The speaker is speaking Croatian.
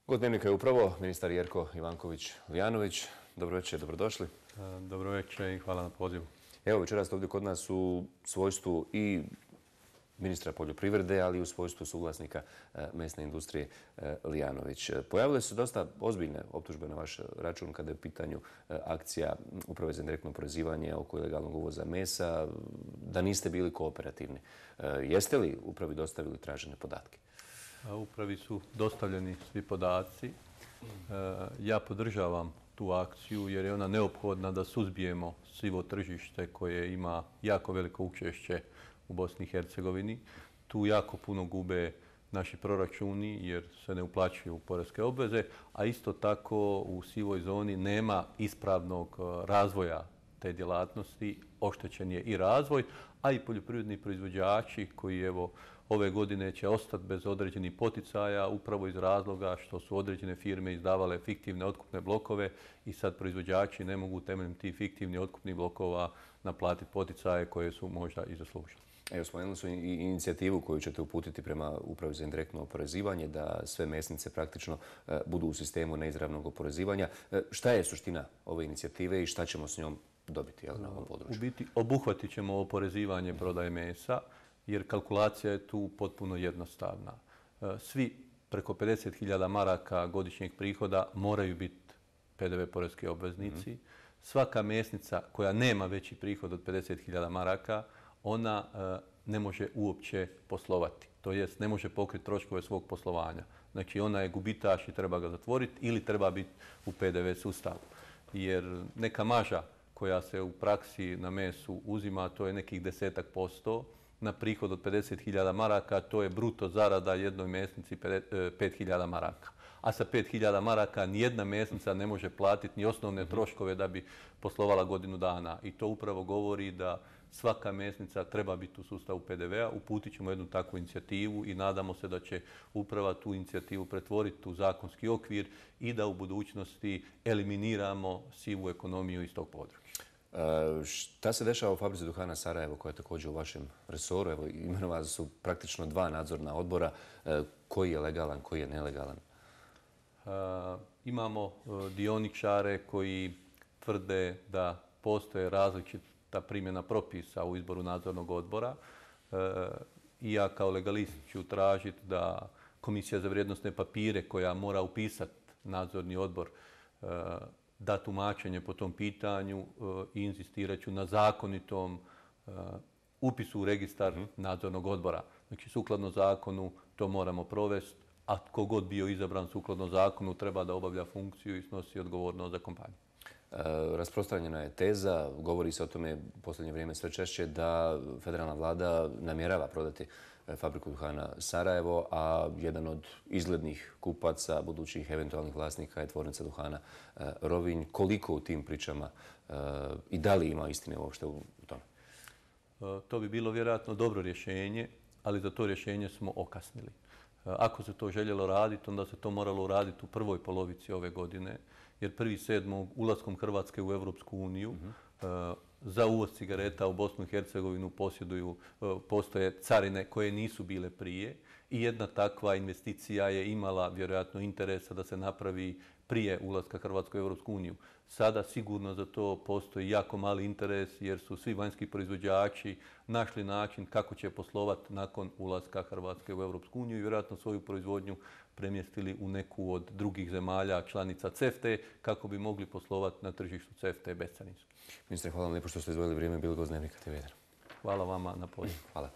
Gost Dnevnika je upravo ministar Jerko Ivanković-Lijanović. Dobro večer, dobrodošli. Dobro večer i hvala na pozivu. Evo, večeras ste ovdje kod nas u svojstvu i ministra poljoprivrede, ali i u svojstvu suvlasnika mesne industrije Lijanović. Pojavile su dosta ozbiljne optužbe na vaš račun kada je u pitanju akcija Uprave za indirektno oporezivanje oko ilegalnog uvoza mesa, da niste bili kooperativni. Jeste li upravi dostavili tražene podatke? Upravi su dostavljeni svi podaci. Ja podržavam tu akciju jer je ona neophodna da suzbijemo sivo tržište koje ima jako veliko učešće u Bosni i Hercegovini. Tu jako puno gube naši proračuni jer se ne uplaćuju poreske obveze, a isto tako u sivoj zoni nema ispravnog razvoja te djelatnosti, oštećen je i razvoj, a i poljoprivredni proizvođači koji evo ove godine će ostati bez određenih poticaja upravo iz razloga što su određene firme izdavale fiktivne otkupne blokove i sad proizvođači ne mogu temeljem tih fiktivnih otkupnih blokova naplatiti poticaje koje su možda i zaslužili. Evo, spomenuli su i inicijativu koju ćete uputiti prema Upravi za indirektno oporezivanje, da sve mesnice praktično budu u sistemu neizravnog oporezivanja. Šta je suština ove inicijative i šta ćemo s njom dobiti na ovom području? U biti obuhvatit ćemo oporezivanje prodaje mesa jer kalkulacija je tu potpuno jednostavna. Svi preko 50.000 maraka godišnjeg prihoda moraju biti PDV poreski obveznici. Svaka mesnica koja nema veći prihod od 50.000 maraka, ona ne može uopće poslovati. To jest ne može pokriti troškove svog poslovanja. Znači ona je gubitaš i treba ga zatvoriti ili treba biti u PDV sustavu. Jer neka marža koja se u praksi na mesu uzima, to je nekih 10% na prihod od 50.000 maraka, to je bruto zarada jednoj mesnici 5.000 maraka. A sa 5.000 maraka nijedna mesnica ne može platiti ni osnovne troškove da bi poslovala godinu dana. I to upravo govori da svaka mesnica treba biti u sustavu PDV-a. Uputit ćemo jednu takvu inicijativu i nadamo se da će uprava tu inicijativu pretvoriti u zakonski okvir i da u budućnosti eliminiramo sivu ekonomiju iz tog područja. Šta se dešava u Fabrici duhana Sarajevo, koja je također u vašem resoru? Evo, imenovali su praktično 2 nadzorna odbora. Koji je legalan, koji je nelegalan? Imamo dioničare koji tvrde da postoje različita primjena propisa u izboru nadzornog odbora. I ja kao legalist ću tražiti da Komisija za vrijednosne papire koja mora upisati nadzorni odbor da tumačenje po tom pitanju i inzistirat ću na zakonitom upisu u registar nadzornog odbora. Znači, sukladno zakonu to moramo provesti, a tko god bio izabran sukladno zakonu treba da obavlja funkciju i snosi odgovornost za kompaniju. Rasprostranjena je teza, govori se o tome u posljednje vrijeme sve češće, da federalna vlada namjerava prodati Fabriku duhana Sarajevo, a jedan od izglednih kupaca, budućih eventualnih vlasnika je tvornica duhana Rovinj. Koliko u tim pričama i da li ima istine uopšte u tome? To bi bilo vjerojatno dobro rješenje, ali za to rješenje smo okasnili. Ako se to željelo raditi, onda se to moralo uraditi u prvoj polovici ove godine, jer 1.7. ulaskom Hrvatske u Europsku uniju za uvoz cigareta u Bosnu i Hercegovinu postoje carine koje nisu bile prije i jedna takva investicija je imala vjerojatno interesa da se napravi prije ulaska Hrvatske u Europsku uniju. Sada sigurno za to postoji jako mali interes jer su svi vanjski proizvođači našli način kako će poslovati nakon ulaska Hrvatske u Europsku uniju i vjerojatno svoju proizvodnju premjestili u neku od drugih zemalja članica CEFTA kako bi mogli poslovati na tržištu CEFTA bescarinski. Ministre, hvala vam lijepo što ste izdvojili vrijeme, bili gost Dnevnika TV1. Hvala vama na pozivu. Hvala.